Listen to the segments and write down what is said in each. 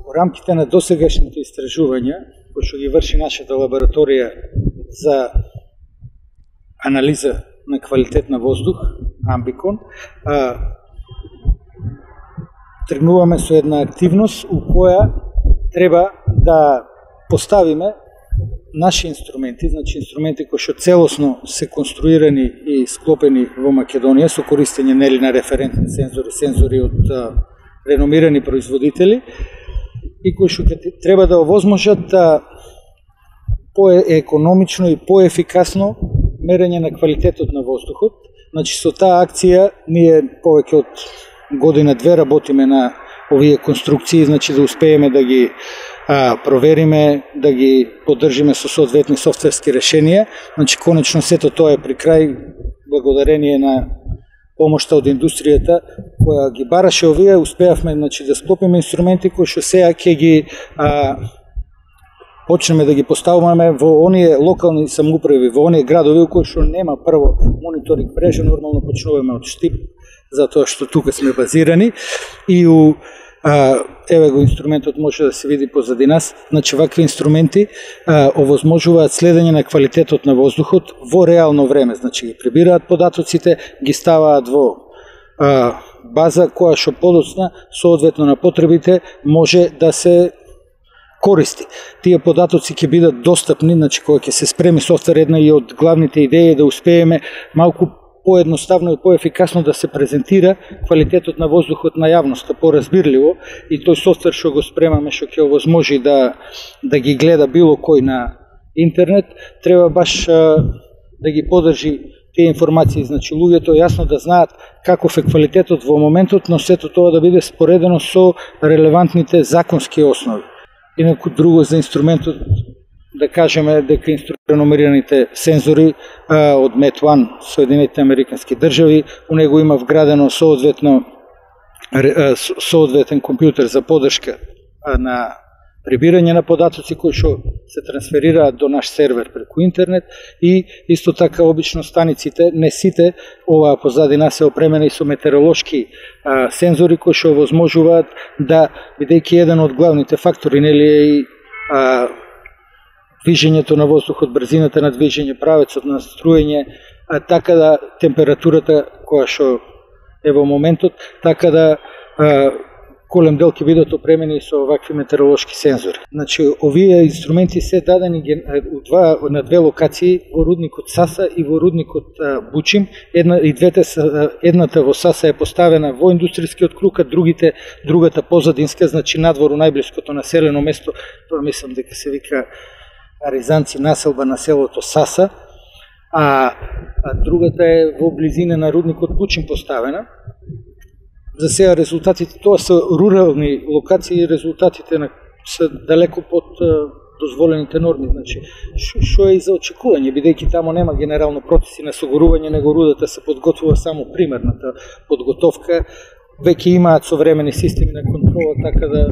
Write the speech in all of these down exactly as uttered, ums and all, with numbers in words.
Во рамките на досегашните истражувања, кои што ги врши нашата лабораторија за анализа на квалитет на воздух, Амбикон, а, тргнуваме со една активност у која треба да поставиме наши инструменти, значи инструменти кои што целосно се конструирани и склопени во Македонија со користење нели на референтни сензори, сензори од а, реномирани производители и кои што треба да овозможат да поекономично и поефикасно мерење на квалитетот на воздухот. Значи со таа акција ние повеќе од година-две работиме на овие конструкции, значи да успееме да ги а, провериме, да ги поддржиме со соодветни софтверски решенија. Значи конечно сето тоа е при крај благодарение на помошта од индустријата која ги бараше овие, успеавме значи да склопиме инструменти кои што сега ќе ги а, почнеме да ги поставуваме во оние локални самоуправи, во оние градови во кои што нема прво мониторинг мрежа, нормално почнуваме од Штип, затоа што тука сме базирани и у а, еве го инструментот може да се види позади нас. Значи вакви инструменти а, овозможуваат следење на квалитетот на воздухот во реално време, значи ги прибираат податоците, ги ставаат во а, база која што подоцна соодветно на потребите може да се користи. Тие податоци ќе бидат достапни, значи кога ќе се спреми софтвер, една и од главните идеи е да успееме малку поедноставно и поефикасно да се презентира квалитетот на воздухот на јавноста, поразбирливо, и тој софтвер што го спремаме, што ќе овозможи да, да ги гледа било кој на интернет, треба баш а, да ги подржи тие информации, значи луѓето јасно да знаат каков е квалитетот во моментот, но сето тоа да биде споредено со релевантните законски основи. Инаку друго за инструментот, да кажеме дека реномираните сензори а, од Met One, Соединетите Американски држави, у него има вградено соодветно соодветен компјутер за поддршка а, на прибирање на податоци кои што се трансферираат до наш сервер преку интернет и исто така обично станиците, не сите, ова позади нас е опремена и со метеоролошки а, сензори кои што овозможуваат да, бидејќи еден од главните фактори нели е и а, движењето на воздухот, брзината на движење, правецот на струење, а, така да температурата која што е во моментот, така да а, голем дел ќе бидат опремени со вакви метеоролошки сензори. Значи, овие инструменти се дадени два, на две локации, во рудникот Саса и во рудникот Бучим. Една, и двете са, едната во Саса е поставена во индустријскиот круг, а другите, другата позадинска, значи надвору најблиското населено место, тоа мислам дека се вика Аризанци, населба на селото Саса, а, а другата е во близина на рудникот Бучим поставена. За сега резултатите, тоа се рурални локации и резултатите на, се далеко под а, дозволените норми. Значи, што е и за очекување, бидејќи тамо нема генерално процеси на согорување, него рудата се подготвува само примерната подготовка. Веќе имаат современи системи на контрола, така да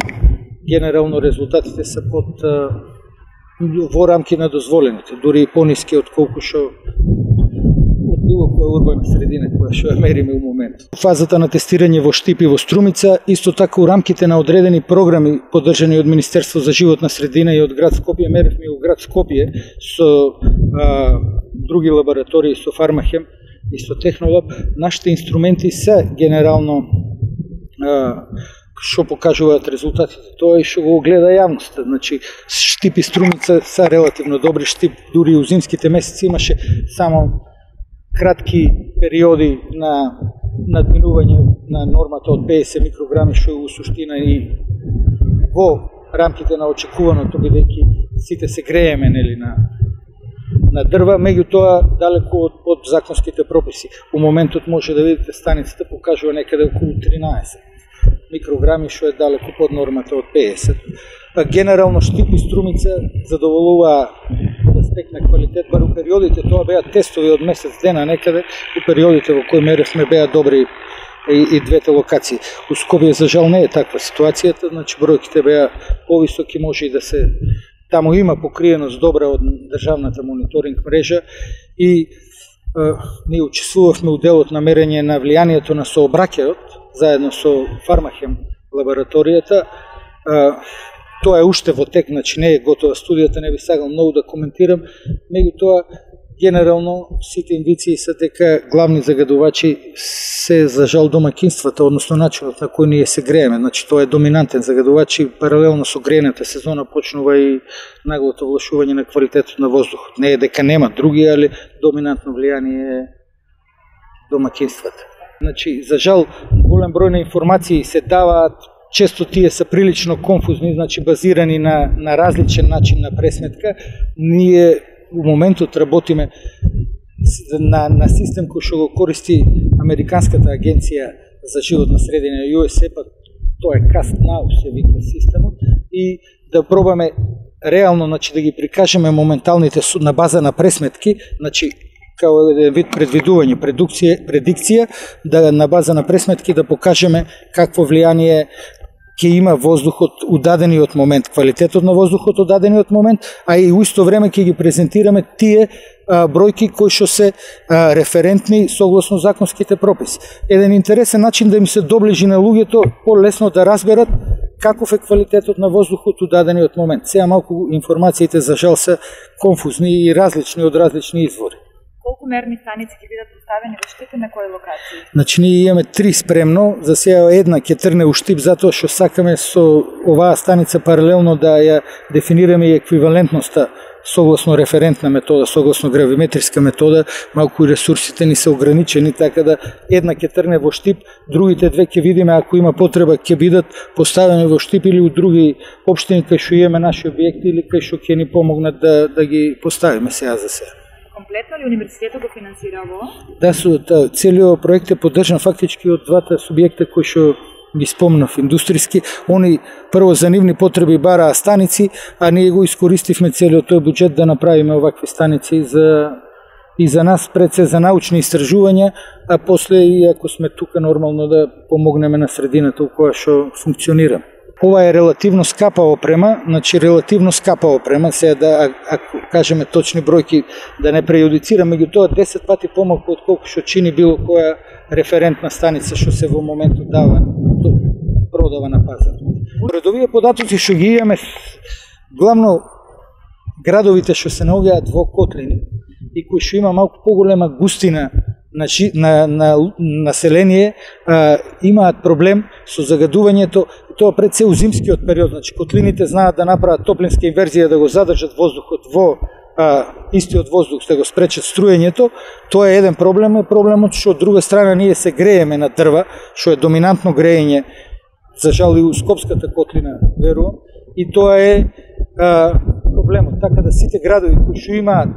генерално резултатите се под а, во рамки на дозволените, дури и пониски од колку што било која урбана средина која што ја мериме у момент. Фазата на тестирање во Штип и во Струмица, исто така у рамките на одредени програми поддржани од Министерство за животна средина и од град Скопје, меревме и у град Скопје со а, други лаборатории, со Фармахем и со Технолаб. Нашите инструменти се генерално а, што покажуваат резултатите, тоа и што го гледа јавноста. Значи, Штип и Струмица се релативно добри. Штип дури у зимските месеци имаше само кратки периоди на надминување на нормата од петдесет микрограми, што е у суштина и во рамките на очекуваното, бидејќи сите се грееме нели на на дрва, меѓутоа далеку од под законските прописи. У моментот може да видите станицата покажува некаде околу тринаесет микрограми, што е далеку под нормата од петдесет. Генерално Штип и Струмица задоволуваа од аспект на квалитет, бар у периодите, тоа беа тестови од месец дена некаде, у периодите во кои меревме беа добри и, и двете локации. У Скопје за жал не е таква ситуацијата, значи бројките беа повисоки, може и да се таму има покриеност добра од државната мониторинг мрежа и е, ние учествувавме у делот на мерење на влијанието на сообраќајот заедно со Фармахем лабораторијата. Тоа е уште во тек, значи не е готова студијата, не би сакал многу да коментирам, меѓутоа генерално сите индиции се дека главни загадувачи се за жал домакинствата, односно начинот на кој ние се грееме. Значи тоа е доминантен загадувач и паралелно со грејната сезона почнува и наглото влошување на квалитетот на воздухот. Не е дека нема други, али доминантно влијание е домакинствата. Значи, за жал, голем број на информации се даваат, често тие се прилично конфузни, значи базирани на, на различен начин на пресметка. Ние у моментот работиме на, на систем кој што го користи Американската агенција за животна средина ю ес ей, па тоа е Cast Now се вика системот, и да пробаме реално, значи, да ги прикажеме моменталните на база на пресметки, значи као еден вид предвидување, предукција, предикција, да на база на пресметки да покажеме какво влијание ќе има воздухот у дадениот момент, квалитетот на воздухот у дадениот момент, а и у исто време ќе ги презентираме тие а, бројки кои што се а, референтни согласно законските прописи. Еден интересен начин да им се доближи на луѓето полесно да разберат каков е квалитетот на воздухот у дадениот момент. Сега малку информациите за жал се конфузни и различни од различни извори. Колку мерни станици ќе бидат поставени во Штип и на кои локации? Значи, ние имаме три спремно, за сега една ќе трне у Штип, затоа што сакаме со оваа станица паралелно да ја дефинираме и еквивалентноста согласно референтна метода, согласно гравиметриска метода. Малку и ресурсите ни се ограничени, така да една ќе трне во Штип, другите две ќе видиме, ако има потреба, ќе бидат поставени во Штип или у други општини кај што имаме наши објекти или кај што ќе ни помогнат да, да ги поставиме сега за сега. Комплетно ли универзитетот го финансира ово? Да, со целиот проект е поддржан фактички од двата субјекта кои што ги спомнав, индустријски. Они прво за нивни потреби бараа станици, а ние го искористивме целиот тој буџет да направиме овакви станици за и за нас пред се за научни истражувања, а после и ако сме тука нормално да помогнеме на средината у која што функционира. Ова е релативно скапа опрема, значи релативно скапа опрема, сега да, ако кажеме точни бројки, да не прејудицирам, меѓутоа десет пати помалку од колку што чини било која референтна станица што се во моментот дава, продава на пазар. Пред овие податоци што ги имаме, главно градовите што се наоѓаат во котлини и кои што има малку поголема густина на, на, на население, а, имаат проблем со загадувањето, и тоа пред се у зимскиот период. Значи, котлините знаат да направат топлинска инверзија, да го задржат воздухот во а, истиот воздух, да го спречат струењето. Тоа е еден проблем, е проблемот што од друга страна ние се грееме на дрва, што е доминантно греење, за жал и у Скопската котлина, верувам, и тоа е а, проблемот. Така да сите градови кои што имаат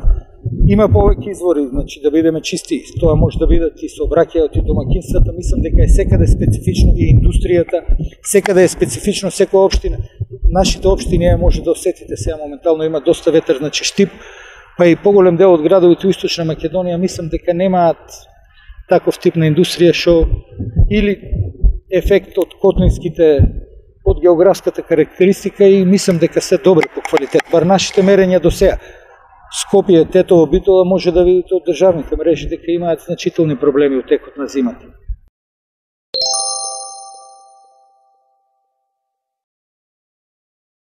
има повеќе извори, значи да бидеме чисти, тоа може да бидат и сообраќајот и домакинствата, мислам дека е секаде специфично и индустријата, секаде е специфично секоја општина. Нашите општини може да осетите сега моментално има доста ветер, значи Штип, па и поголем дел од градовите у Источна Македонија, мислам дека немаат таков тип на индустрија што или ефект од котлинските, од географската карактеристика, и мислам дека се добри по квалитет. Бар нашите мерења до сега. Скопје, Тетово, Битола може да видите од државните мрежи дека имаат значителни проблеми од текот на зимата.